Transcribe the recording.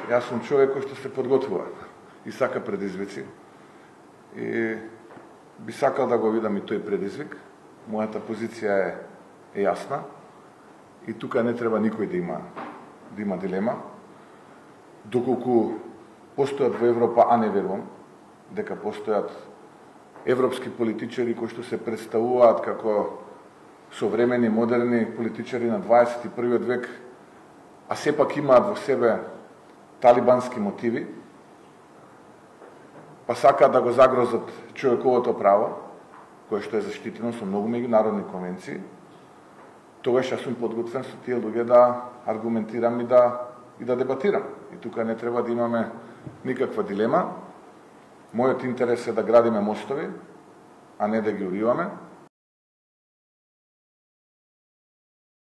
Јас сум човек кој што се подготвува и сака предизвици. И би сакал да го видам и тој предизвик. Мојата позиција е јасна и тука не треба никој да има дилема. Доколку постојат во Европа, а не верувам дека постојат европски политичари кои што се представуваат како современи, модерни политичари на 21. век, а сепак имаат во себе талибански мотиви, па сакаат да го загрозат човековото право, кое што е заштитено со многу меѓународни конвенции, тогаш јас сум подготвен со тие луѓе да аргументирам и да дебатирам. И тука не треба да имаме никаква дилема. Мојот интерес е да градиме мостови, а не да ги уриваме.